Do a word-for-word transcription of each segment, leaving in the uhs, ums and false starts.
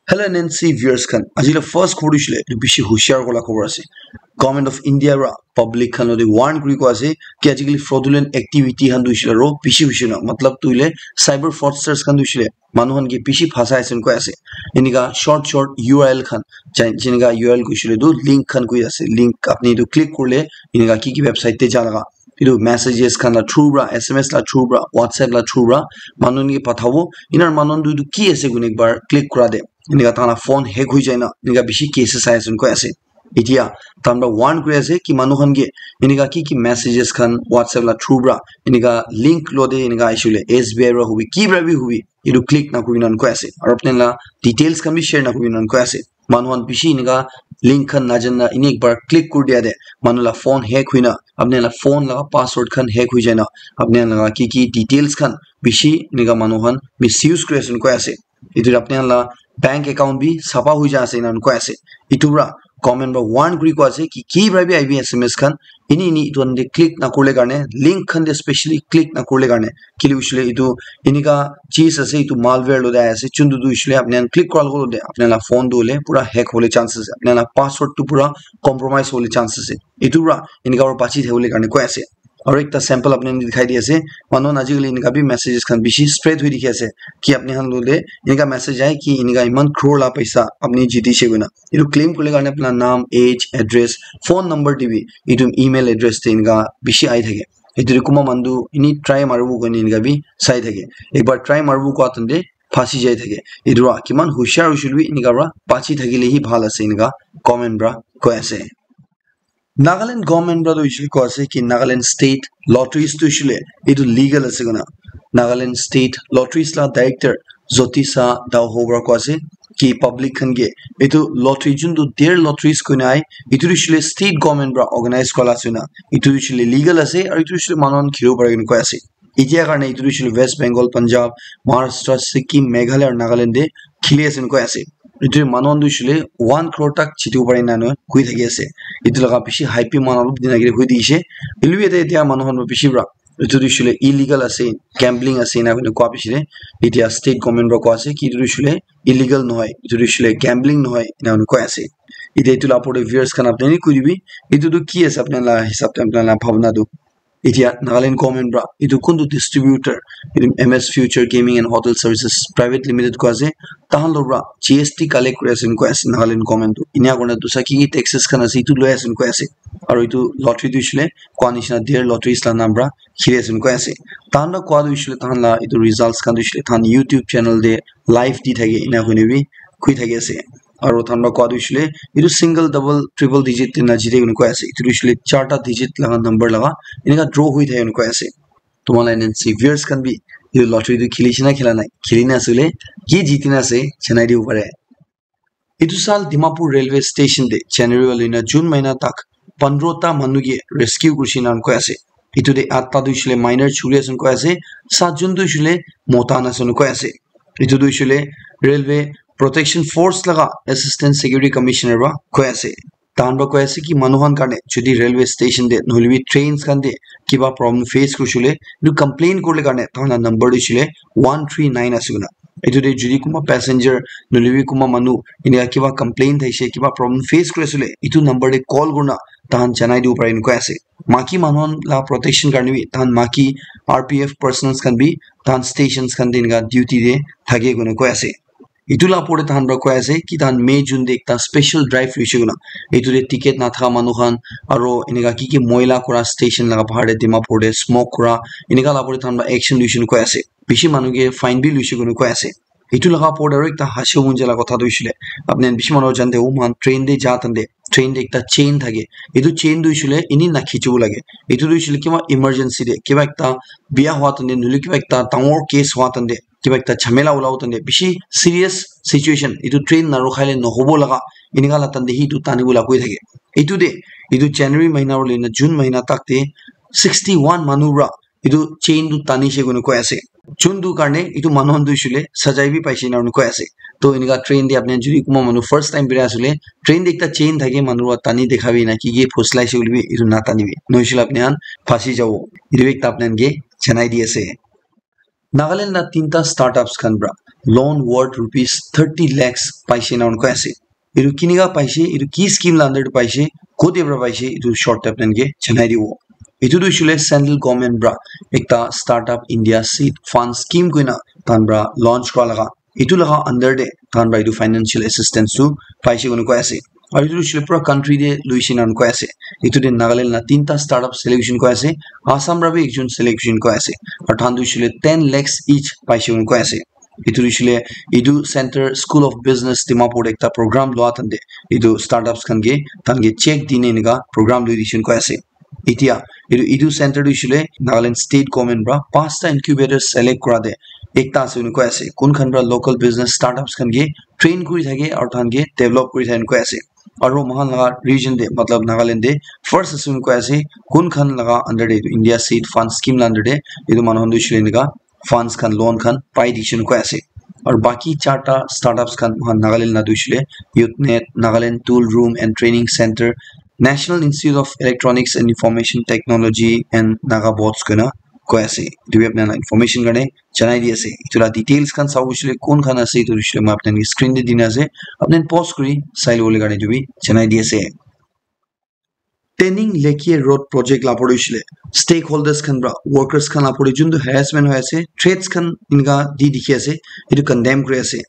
Hello N N C viewers khan, aji la first khobor tu hoishe le, etu bishi hushiar kura khobor ase. Government of India ra public khan lode warn kuri koi ase ki ajikali fraudulent activity khan tu hoishe le aro bishi hoishe na, matlab tu hoile cyber fraudsters khan tu hoishe le manu khan ke bishi phasai ase koi ase. Enika short short U R L khan, jai- jenika U R L koi hoishe le tu link khan koi ase, link apni tu click kurle enika ki ki website te ja laga etu messages khan la through pra, S M S la through pra, WhatsApp la through pra manu khan ke pathabo. Enar manu khan tu etu ki ase koina ekbar click kura de, enika tahan la phone hack hoi jai na, enika bishi cases sai ase koi ase. Etia tahan pra warn kuri ase ki manu khan ke enika ki ki messages khan WhatsApp la through pra, enika link lo de enika aishe le S B I pra hobi, ki pra bi hobi, etu click na kuri na koi ase. Aro apni la details khan bi share na kuri na koi ase. Manu khan bishi enika link khan najana eni ekbar click kuri dia de manu la phone hack hoina apni la phone laga password khan hack hoi jai na apni laga ki ki details khan bishi enika manu khan misuse kuri ase koi ase. Etu apni la bank account bi sapa hoi ja ase ena koi ase. Etu pra government pra warn kuri koi ase ki ki pra bi aibi S M S khan eni eni etu khan de click na kurle karne, link khan de specially click na kurle karne, kile hoishe le etu enika cheez ase, etu malware lo de ase, chuntu tu hoishe le apni khan click kura logo lo de apni la phone tu hoile pura hack hole chance ase, apni la password tu pura compromise hole chance ase. Etu pra enika pra bachi thakibole karne koi ase. Aro ekta sample apni khan ke dikhai di ase, manu khan ajikali enika bi messages khan bishi spread hoi dikhi ase ki apni khan lo de enika message ahe ki enika iman crore la paisa apni jiti she koina. Etu claim kuribole karne apni la naam, age, address, phone number dibi, etu email address te enika bishi ahi thake. Etu te kunba manu tu eni try maribo koine enika bi sai thake. Ekbar try maribo koa tante phasi jai thake. Etu pra kiman hushiar hoishe le bi enika pra bachi thakile hi bhal ase enika government pra koi ase. Nagaland government pra tu hoishe le koi ase ki Nagaland state lotteries tu hoishe le etu legal ase koina. Nagaland state lotteries la director Jyotisa Daoho pra koi ase ki public khan ke etu lottery juntu der lotteries koina ahe, etu tu hoishe le state government pra organize kura la ase koina. Etu tu hoishe le legal ase aro etu tu hoishe le manu khan khelibo pare koina koi ase. Etia karne etu tu hoishe le West Bengal, Punjab, Maharashtra, Sikkim, Meghalaya aro Nagaland te kheli ase koina koi ase. Etu manu khan tu hoishe le one crore tak jitibo pare ena koi thaki ase. Etu laga bishi hype bi manu khan olop din age te hoi dikhi se. Hoilebi yate etia manu khan bishi pra etu tu hoishe le illegal ase, gambling ase ena koina koa bishi de. Etia state government pra koa ase ki etu tu hoishe le illegal nohoi, etu tu hoishe le gambling nohoi ena koina koi ase. Etia etu la opor te viewers khan apni khan koi dibi, etu tu ki ase apni la hisab te, apni la bhabna tu. Etia Nagaland government pra etu kuntu distributor, etu M S Future Gaming and Hotel Services Private Limited koi ase, tahan lo pra G S T collect kuri ase koi ase Nagaland government tu. Enia kurina dusra ki ki taxes khan ase, etu loi ase koi ase. Aro etu lottery tu hoishe le koa nishina der lotteries la naam pra kheli ase koi ase. Tahan pra koa tu hoishe le tahan la etu results khan tu hoishe le tahan YouTube channel te live di thake ena koina bi koi thaki ase. Aro tahan pra koa tu hoishe le etu single, double, triple digit te na jite koina koi ase. Etu tu hoishe le charta digit laga number laga enika draw hoi thake koina koi ase. Tumhala N N C viewers khan bi etu lottery tu kheli she na khela nai, kheli na ase le ki jiti na ase janai dibo pare. Etu saal Dimapur railway station te January wa loina June mahina tak pandro ta manu ke rescue kurishe na koi ase. Etu te atta tu hoishe le minor churi ase koi ase, saat jon tu hoishe le mota khan ase koi ase. Etu tu hoishe le railway protection force laga assistant security commissioner pra koi ase. Tahan pra koi ase ki manu khan karne jodi railway station te nohoile bi trains khan te kiba problem face kurishe le etu complain kuribole karne tahan la number tu hoishe le one three nine ase koina. Etu te jodi kunba passenger nohoile bi kunba manu enika kiba complain thakishe, kiba problem face kuri ase le, etu number te call kurina tahan janai dibo pare koina koi ase. Maki manu khan la protection karne bi tahan maki R P F personnels khan bi tahan stations khan te enika duty te thake koina koi ase. Etu la opor te tahan pra koi ase ki tahan May, June te ekta special drive loishe koina. Etu te ticket nathaka manu khan aro enika ki ki moila kura station laga bahar te Dimapur te smoke kura enika la opor te tahan pra action loishe koina koi ase. Bishi manu ke fine bi loishe koina koi ase. Etu laga opor te aro ekta hasibo mon jai la kotha tu hoishe le, apni khan bishi manu jante hobo, moikhan train te ja tante train te ekta chain thake. Etu chain tu hoishe le eni nakhichibo lage. Etu tu hoishe le kiba emergency te, kiba ekta bia hua tante, nohoile kiba ekta dangor case hua tante, kiba ekta jhamela ulabo tante, bishi serious situation, etu train narukha le nohobo laga, enika la tante hi etu tanibo la koi thake. Etu te, etu January mahina wa loina June mahina tak te sixty one manu pra etu chain tu tanishe koina koi ase. Juntu karne etu manu khan tu hoishe le sajai bi paishe ena koi ase. To enika train te apni khan jodi kunba manu first time bera ase le, train te ekta chain thake manu pra tani dekha bi na ki ki phusulai she koile bi etu natanibi. Nohoishe le apni khan phasi jabo. Etu bi ekta apni khan ke janai di ase. Nagaland la tinta startups khan pra loan worth rupees thirty lakhs paise na koi ase. Etu kinika paise, etu ki scheme la under te paise, kote pra paise, etu short te apni ke janai dibo. Etu tu hoishe koile central government pra ekta Startup India Seed Fund scheme koina tahan pra launch kura laga. Etu laga under te tahan pra etu financial assistance tu paise koina koi ase. Aru etu tu hoishe koile pura country te loishe na koi ase. Etu te Nagaland la tinta startup selection koi ase. Assam pra bi ekjon selection koi ase. Aru tahan tu hoishe koile ten lakhs each paise koina koi ase. Etu tu hoishe koile etu center School of Business Dimapur te ekta program lua tahan te etu startups khan ke tahan ke check dine enika program lui dishe koina koi ase. Etia etu etu center tu hoishe koile Nagaland state government pra pasta incubator select kura te ekta ase koina koi ase. Kun khan pra local business startups khan ke train kuri thake aru tahan ke develop kuri thake koina koi ase. Aru moikhan laga region te matlab Nagaland te first ase koina koi ase. Kun khan laga under te etu India Seed Fund scheme la under te etu manu khan tu hoishe koile enika funds khan, loan khan pai dishe koina koi ase. Aru baki charta startups khan moikhan Nagaland la tu hoishe koile Youth Net, Nagaland Tool Room and Training Center, National Institute of Electronics and Information Technology and Naga Bots koina koi ase. Etu bi apni khan la information karne janai di ase. Etu la details khan sabo hoishe koile kun khan ase etu hoishe koile moi apni khan ke screen te dina ase. Apni khan pause kuri sai lobole karne etu bi janai di ase. Tening Lekhi Road project la opor te hoishe koile stakeholders khan pra workers khan la opor te juntu harassment hoi ase, threats khan enika di dikhi ase, etu condemn kuri ase.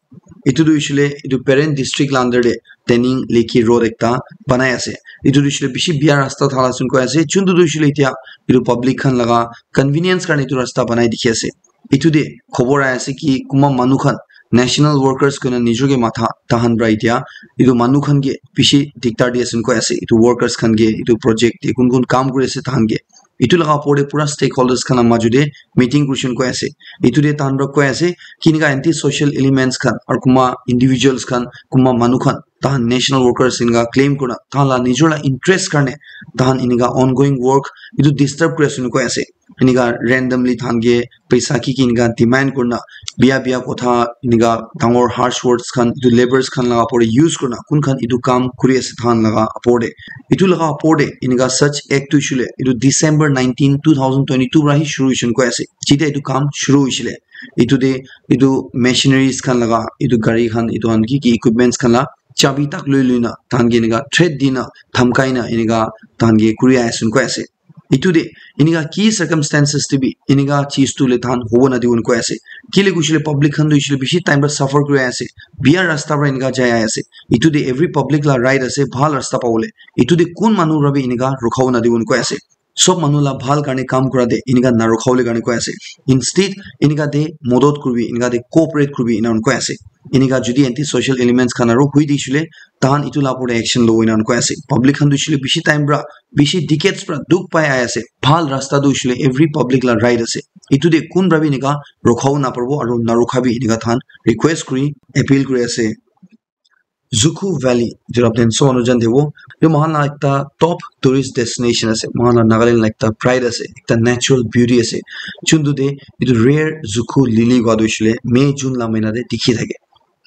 Etu tu hoishe koile etu Peren district la under te Tening Lekhi Road ekta banai ase. Etu tu hoishe koile bishi bia rasta thala sun koi ase. Juntu tu hoishe koile etia etu public khan laga convenience karne etu rasta banai dikhi ase. Etu te khobor ahi ase ki kunba manu khan national workers koina nijor ke matha tahan pra etia etu manu khan ke bishi diktar di ase koi ase. Etu workers khan ke etu project te kun kun kam kuri ase tahan ke etu laga opor te pura stakeholders khan la maju te meeting kurishe koi ase. Etu te tahan pra koi ase kinika anti social elements khan aru kunba individuals khan kunba manu khan tahan national workers enika claim kurina tahan la nijor la interest karne tahan enika ongoing work etu disturb kuri ase koina koi ase. Enika randomly tahan ke paisa ki ki enika demand kurina bia bia kotha enika dangor harsh words khan etu labours khan laga opor te use kurina kun khan etu kam kuri ase tahan laga opor te. Etu laga opor te enika such act tu hoishe koile etu December nineteen, two thousand twenty-two pra hi shuru hoishe koina koi ase. Jetia etu kam shuru hoishe koile etu te etu machineries khan laga etu gari khan etu khan ki ki equipments khan la chabi tak lui lui na tahan ke enika threat di na dhamkai na enika tahan ke kuri ahi ase koina koi ase. Etu te enika ki circumstances te bi enika cheez tu le tahan hobo na dibo koina koi ase. Kile koishe koile public khan tu hoishe koile bishi time pra suffer kuri ahi ase. Bia rasta pra enika jai ahi ase. Etu te every public la right ase bhal rasta pabole. Etu te kun manu pra bi enika rukha bo na dibo koina koi ase. Sob manu la bhal karne kam kura te enika na rukha bole karne koi ase. Instead enika te modot kuribi, enika te cooperate kuribi enika koi ase. Enika jodi anti social elements khan aru hui di hoishe koile tahan etu la opor te action lobo enika koi ase. Public khan tu hoishe koile bishi time pra bishi decades pra dukh pai ahi ase. Bhal rasta tu hoishe koile every public la right ase. Etu te kun pra bi enika rukha bo na paribo aru na rukha bi enika tahan request kuri appeal kuri ase. Zuku Valley, etu apni khan sob manu jane dibo. Etu moikhan la ekta top tourist destination ase. Moikhan la Nagaland la ekta pride ase, ekta natural beauty ase. Juntu te etu rare Zuku lily kua tu hoishe koile May, June la mahina te dikhi thake.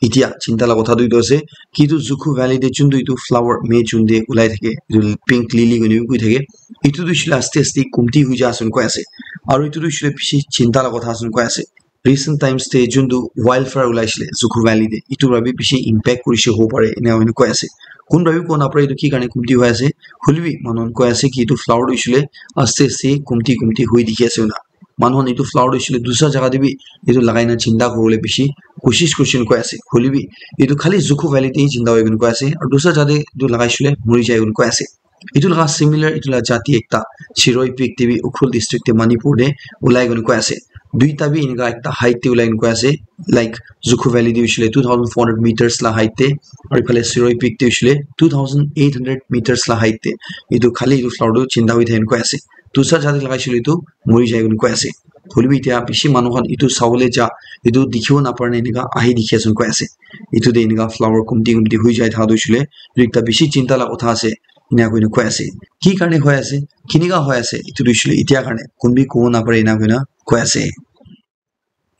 Etia chinta la kotha tu etu ase ki etu Zuku Valley te juntu etu flower May, June te ulai thake, etu pink lily koina bi koi thake. Etu tu hoishe koile aste aste kumti hoi ja ase koi ase. Aru etu tu hoishe koile bishi chinta la kotha ase koi ase. Recent times te juntu wildfire ulaishe koile Zuku Valley te, etu para bi bishi impact kurishe hobo pare, ena hoina koi ase. Kun para bi kowa napare etu ki karne kumti hoi ase, hoile bi manu khan koi ase ki etu flower tu hoishe koile aste aste kumti kumti hoi dikhi ase koina. Manu khan etu flower tu hoishe koile dusra jaga te bi etu lagai na chinta kuribole bishi koshish kurishe koina koi ase. Hoile bi etu khali Zuku Valley te hi chinta hoi koina koi ase, aru dusra jaga te etu lagaishe koile mori jai koina koi ase. Etu laga similar etu la jati ekta Shirui Peak te bi Ukhrul district te Manipur te ulai koina koi ase. Duita bi enika ekta height te ulai koina koi ase, like Zuku Valley te hoishe koile two thousand four hundred meters la height te, aru ephale Shirui Peak te hoishe koile two thousand eight hundred meters la height te. Etu khali etu flower tu chinta hoi thake koina koi ase. Dusra jati lagaishe koile etu mori jai koina koi ase. Hoile bi etia bishi manu khan etu sabole ja, etu dikhibo napare na enika ahi dikhi ase koina koi ase. Etu te enika flower kumti kumti hoi jai thaka tu hoishe koile etu ekta bishi chinta la kotha ase. Ena koina koi ase. Ki karne hoi ase? Kinika hoi ase? Etu tu hoishe koile etia karne kun bi kobo napare ena koina koi ase.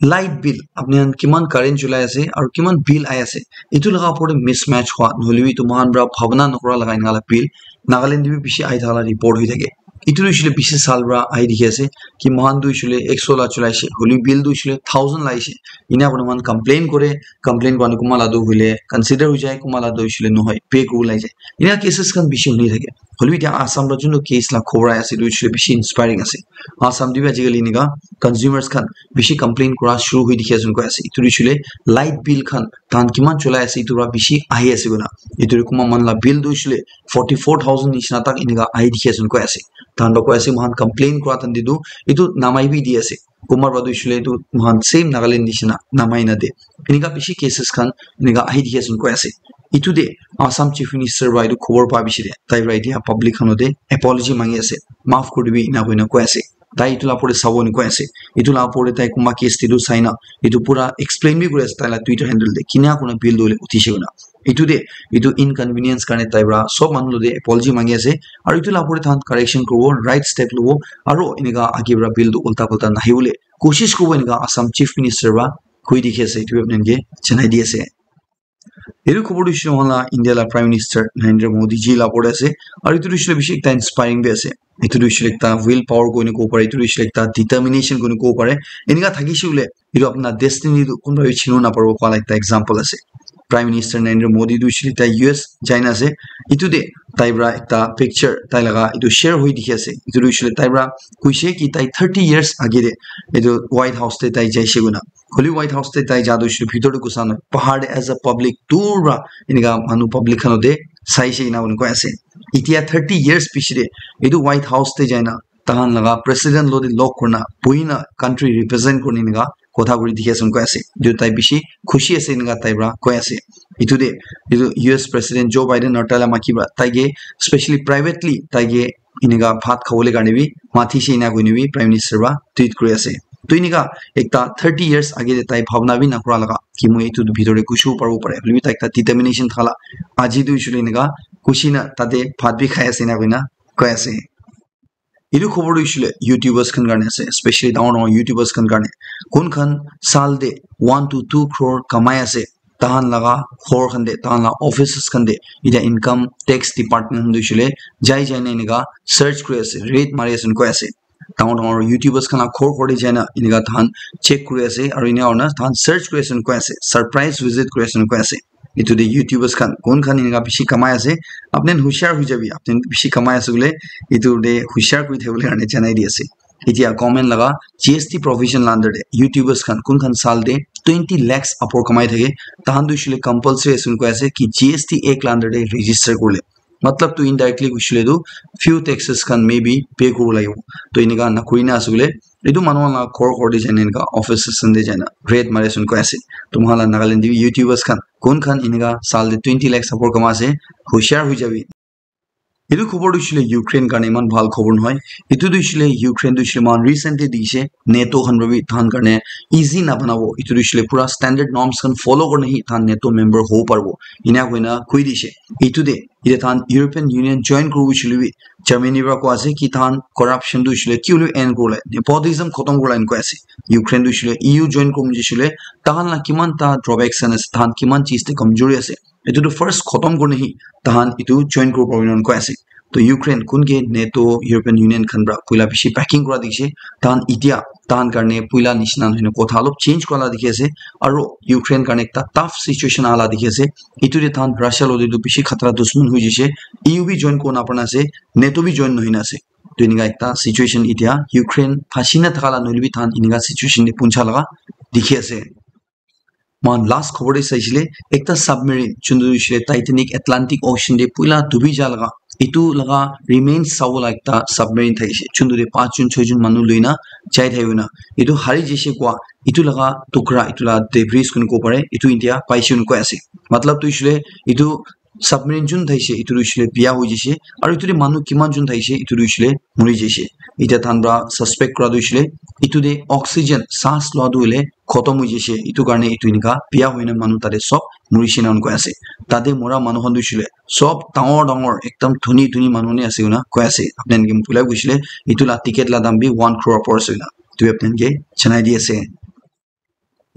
Light bill, apni khan kiman current chulai ase aru kiman bill ahi ase, etu laga opor te mismatch hua, nohoile bi etu moikhan para bhabna nokura laga ena la bill Nagaland te bi bishi ahi thaka la report hoi thake. Itu tu hoishe le bishi saal para ahi dikhi ase ki moikhan tu hoishe le ekso la chulai she, hoilebi bill tu hoishe le thousand la ahi she. Ena kurina moikhan complain kore, complain kurina kunba la tu hoile consider hoi jai, kunba la tu hoishe le nohoi, pay kuribo lai jai. Ena cases khan bishi huni thake. Hoilebi etia Assam para juntu case la khobor ahi ase, itu hoishe le bishi inspiring ase. Assam te bi ajikali eneka consumers khan bishi complain kura shuru hoi dikhi ase koi ase. Itu hoishe le light bill khan tahan kiman cholai ase, itu para bishi ahi ase koina. Itu kunba manu la bill tu hoishe le forty four thousand nishina tak eneka ahi dikhi ase koi ase. Tahan para koi ase, moikhan complain kura time te tu itu namai bi di ase. Kunba para tu hoishe le itu moikhan same Nagaland nishina namai na de. Eneka bishi cases khan eneka ahi dikhi ase koi ase. Itu te Assam Chief Minister para itu khobor pa bishi de tai para etia public khan te apology mangi ase, maaf kuri dibi ena koina koi ase. Tai itu la opor te sabo ni koi ase. Itu la opor te tai kunba case te tu sai na itu pura explain bi kuri ase tai la Twitter handle te kina kurina bill tu hoile uthi she koina. Itu te itu inconvenience karne tai para sob manu te apology mangi ase. Aru itu la opor te tahan correction kuribo, right step lobo, aru eneka age para bill tu ulta pulta nahi bole koshish kuribo, eneka Assam Chief Minister para koi dikhi ase. Itu apni khan ke janai di ase. Etu khobor tu hoishe le moikhan la India la Prime Minister Narendra Modi ji la opor te ase. Aru etu tu hoishe le bishi ekta inspiring bi ase. Etu tu hoishe le ekta will power koine kobo pare, etu tu hoishe le ekta determination koine kobo pare. Enika thakishe hoile, etu apna destiny tu kunba bi chinibo naparibo koa la ekta example ase. Prime Minister Narendra Modi tu hoishe le tai U S jai na ase. Etu te tai para ekta picture tai laga etu share hoi dikhi ase. Etu tu hoishe le tai para koishe ki tai thirty years age te etu White House te tai jaishe koina. Hoilebi White House te tai ja tu hoishe le bhitor te ghusa nai. Bahar te as a public dur para enika manu public khan te saishe ena koi ase. Etia thirty years piche te etu White House te jai na tahan laga president lo te log kurina buhi na country represent kurina enika kotha kuri dikhi ase koi ase. Etu tai bishi khushi ase enika tai para koi ase. Etu te etu U S president Joe Biden aru tai la maki para tai ke specially privately tai ke enika bhat khabole karne bi matishe ena koine bi Prime Minister para tweet kuri ase. To enika ekta thirty years age te tai bhabna bi nakura laga ki moi etu bhitor te ghusibo paribo pare. Hoilebi tai ekta determination thala aji tu hoishe le enika khushi na tate bhat bi khai ase ena koina koi ase. Etu khobor tu hoishe le YouTubers khan karne ase, specially dangor dangor YouTubers khan karne. Kun khan saal te one to two crore kamai ase, tahan laga ghor khan te, tahan laga offices khan te, etia income tax department khan tu hoishe le jai jai na enika search kuri ase, raid mari ase koi ase. Dangor dangor YouTubers khan laga ghor ghor te jai na enika tahan check kuri ase, aru ena hoina tahan search kuri ase koi ase, surprise visit kuri ase koi ase. Etu te YouTubers khan kun khan enika bishi kamai ase, apni khan hushar hoi jabi, apni khan bishi kamai ase bole, etu te hushar kuri thakibole karne janai di ase. Etia government laga G S T provision la under te YouTubers khan kun khan saal te twenty lakhs upor kamai thake, tahan tu hoishe le compulsory ase koi ase ki G S T Act la under te register kurle. Matlab tu indirectly hoishe le tu few taxes khan maybe pay kuribo lagibo. To enika nakuri na ase bole, etu manu khan laga ghor ghor te jai na enika offices khan te jai na raid mari ase koi ase. To moikhan la Nagaland te bi YouTubers khan kun khan enika saal te twenty lakhs upor kamai ase, hushar hoi jabi. Etu khobor tu hoishe le Ukraine karne eman bhal khobor nohoi. Etu tu hoishe le Ukraine tu hoishe le moikhan recently dikhishe NATO khan para bi tahan karne easy na banabo. Etu tu hoishe le pura standard norms khan follow kurina hi tahan NATO member hobo paribo. Ena koina koi dishe. Etu te etia tahan European Union join kuribo hoishe le bi Germany para koi ase ki tahan corruption tu hoishe le ki hoilebi end kuribole, nepotism khotom kuribole ena koi ase. Ukraine tu hoishe le E U join kuribo hoishe le tahan la kiman ta drawbacks khan ase, tahan kiman cheez te kamjori ase. Etu tu first khotom kurina hi tahan etu join kuribo paribo ena koi ase. To Ukraine kun ke NATO, European Union khan para puila bishi backing kura dikhishe. Tahan etia tahan karne puila nishina nohoi na kotha olop change kura la dikhi ase. Aru Ukraine karne ekta tough situation aha la dikhi ase. Etu te tahan Russia lo te tu bishi khatra dushman hoi jaishe. E U bi join kuribo napara na ase, NATO bi join nohoi na ase. To enika ekta situation etia Ukraine phansi na thaka la nohole bi tahan enika situation te puncha laga dikhi ase. Moikhan last khobor te saishe le, ekta submarine, juntu hoishe le Titanic Atlantic Ocean te puila dubi ja laga, etu laga remains sabo la ekta submarine thakishe, juntu te panch jon, choi jon manu loi na jai thaki kena, etu hari jaishe koa, etu laga tukra, etu laga debris koi na kobo pare, etu etia paishe koi na koi ase. Matlab tu hoishe le, etu submarine jun thaishe, etu tu hoishe le biya hoi jaishe, aru etu te manu kiman jun thaishe, etu tu hoishe le mori jaishe. Etia tahan para suspect kura tu hoishe le, etu te oxygen, saas loa tu hoile khotom hoi jaishe, etu karne etu enika biya hoi na manu tate sob morishe ena koi ase. Tate mora manu khan tu hoishe le sob dangor dangor ekdam dhoni dhoni manu khan he ase koi na koi ase. Apni khan ke moi pulai koishe le, etu la ticket la dam bi one crore upor ase koi na. Etu apni khan ke janai di ase.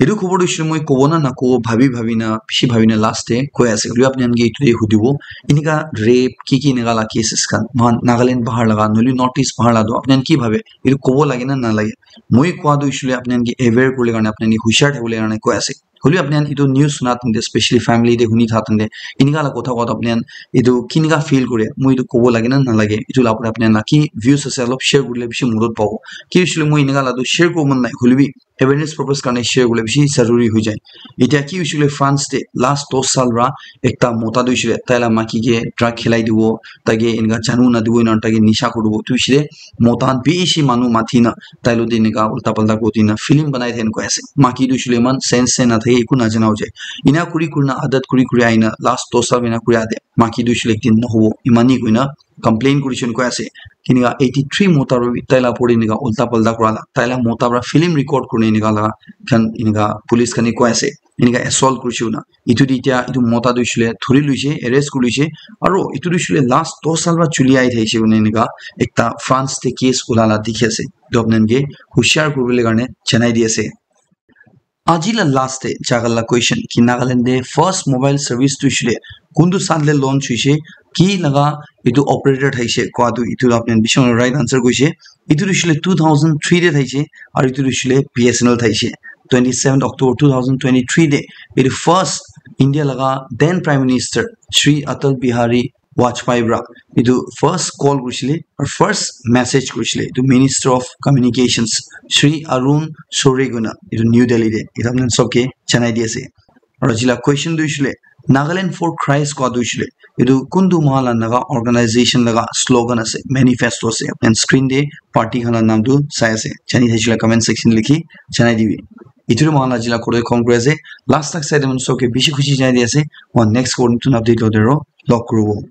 Etu khobor tu hoishe moi kobo na nakobo bhabi bhabi na, bishi bhabi na last te koi ase. Hoilebi apni khan ke etu te hudibo. Enika rape, ki ki enika la cases khan, moikhan Nagaland bahar laga, nohoile North East bahar laga tu, apni khan ki bhabe? Etu kobo lage na nalage? Moi kowa tu hoishe apni khan ke aware kuribole karne, apni khan ke hushar thakibole karne koi ase. Hoilebi apni khan etu news suna time te, specially family te huni tha time te, enika la kotha kowa tu apni khan etu kinika feel kore, moi etu kobo lage na nalage? Etu la opor te apni khan la ki views ase, olop share kurile bishi modot pabo. Ki hoishe moi enika la tu share kuribo mon nai, hoilebi awareness purpose karne share kurile bishi zaruri hoi jai. Etia ki hoishe koile France te last dos saal para ekta mota tu hoishe koile tai la maki ke drug khilai dibo, tai ke enika janu na dibo, ena tai ke nisha kuri dibo. Tu hoishe koile mota khan bishi manu mati na tai lo te enika ulta palta kuri dina film banai thaka koi ase. Maki tu hoishe koile eman sense se na thake, eku na jana hoi jai. Ena kuri kuri na adat kuri kuri ahi na last dos saal ena kuri ade maki tu hoishe koile ekdin na hobo, eman hi koi na complain kurishe koi ase. Enika eighty three mota para bi tai la opor te enika ulta palta kura la, tai la mota para film record kurina enika la khan enika police khan ke koi ase. Enika assault kurishe koina. Etu te etia etu mota tu hoishe koile thori loishe, arrest kuri loishe. Aro etu tu hoishe koile last dos saal para chuli ahi thakishe koina enika ekta France te case ula la dikhi ase. Etu apni khan ke hushar kuribole karne janai di ase. Aji la last te jaga la question ki Nagaland te first mobile service tu hoishe koile kuntu saal te launch hoishe, ki laga etu operator thaishe kowa tu, etu apni khan bishi right answer koishe. Etu tu hoishe koile two thousand three te thaishe, aru etu tu hoishe koile B S N L thaishe. Twenty seventh October two thousand twenty three te etu first India laga then Prime Minister Shri Atal Bihari Vajpayee para etu first call kurishe koile, aru first message kurishe koile etu Minister of Communications Shri Arun Shourie koina etu New Delhi te etu apni khan sob ke janai di ase. Aru aji la question tu hoishe koile Nagaland for Christ kowa tu hoishe koile etu kuntu moikhan la Naga organization laga slogan ase, manifesto ase, and screen te party khan la naam tu sai ase. Jani thakishe koile comment section te likhi janai dibi. Etu tu moikhan la aji la kotha khom kuri ase. Last tak sai de manu sob ke bishi khushi janai di ase. Aru next kotha notun update lo de aro log kuribo.